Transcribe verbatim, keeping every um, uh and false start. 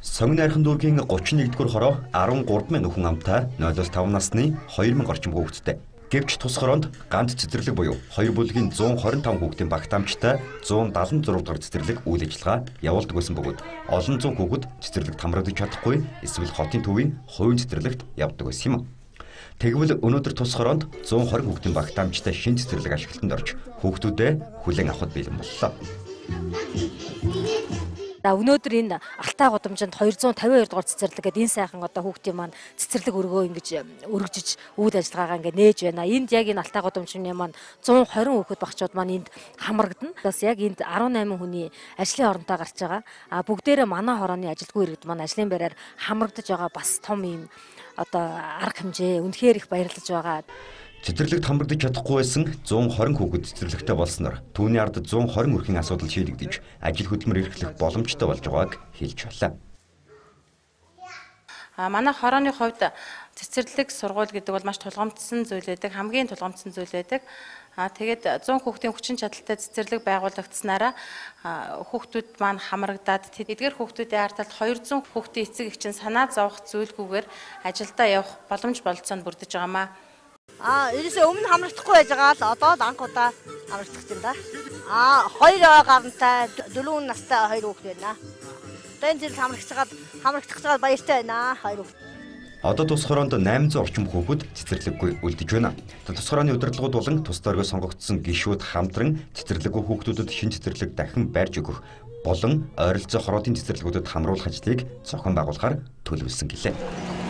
Сонгон найрхан дүүргийн гучин нэгдүгээр хороо арван гурав мянган хүн амтай нулимс таван насны хоёр мянга орчим хүүхэдтэй. Гэвч тус хороонд ганц цэцэрлэг буюу хоёр бүлгийн зуун хорин таван хүүхдийн багтаамжтай зуун дагалан зурав дахь цэцэрлэг үйл ажиллагаа явуулдаг байсан бөгөөд олон зуун хүүхэд цэцэрлэгт хамрагдаж чадахгүй эсвэл хотын төвийн хувийн цэцэрлэгт явдаг байсан юм. Тэгвэл өнөөдөр тус хороонд зуун хорин хүүхдийн багтаамжтай шинэ цэцэрлэг ашиглалтанд орж хүүхдүүдэд хүлээн авахд бэлэн боллоо. Өнөөдөр энэ Алтай гудамжинд хоёр зуун тавин хоёр дугаар цэцэрлэг гэдэг энэ сайхан одоо хүүхдийн маань цэцэрлэг өргөө ингэж өргөжж үйл ажиллагаагаа ингэ нээж байна. Энд яг энэ Алтай гудамжны маань зуун хорин хүүхэд багчууд маань энд хамрагдана. Бас яг энд арван найман хүний ажлын оронтой гарч байгаа. А бүгдээрээ манай хорооны ажилтгүй иргэд маань ажлын байраар хамрагдаж байгаа бас том юм одоо арга хэмжээ үнэхээр их баярлаж байгаа. Цэцэрлэгт хамрагдаж чадахгүй байсан зуун хорин хүүхэд цэцэрлэгтэй болсноор түүний ард зуун хорин өрхийн асуудал шийдэгдэж ажил хөдөлмөр эрхлэх боломжтой болж байгааг хэлж байлаа. А манай хорооны хувьд цэцэрлэг сургууль гэдэг бол маш тулгамдсан зүйл байдаг, хамгийн тулгамдсан зүйл байдаг. А тэгээд зуун хүүхдийн хүчин чадалтай цэцэрлэг байгуулагдсанараа хүүхдүүд маань хамрагдаад эдгээр хүүхдүүдийн ард талд хоёр зуун хүүхдийн эцэг эгчин санаа зовох зүйлгүйгээр ажилдаа явах боломж болцоонд бүрдэж байгаамаа. А ерөөсөө өмнө хамрагдахгүй байж байгаа л одоо л анх удаа хамрагдах юм да. А хоёр гарантай дөрвөн настай хоёр хүүхэд байна. Тэн зэрэг хамрагдаж байгаа хамрагдах байгаа баяртай байна хоёр хүүхэд. Одоо тус хороонд найман зуун орчим хүүхэд цэцэрлэггүй үлдэж байна. Тус хорооны удирдлагууд болон тус дөргөө сонгогдсон гишүүд хамтран цэцэрлэггүй хүүхдүүдэд шинэ цэцэрлэг дахин байрж өгөх болон ойролцоо хороодын цэцэрлэгүүдэд хамруулах ажлыг зохион байгуулахаар төлөвлөсөн гэлээ.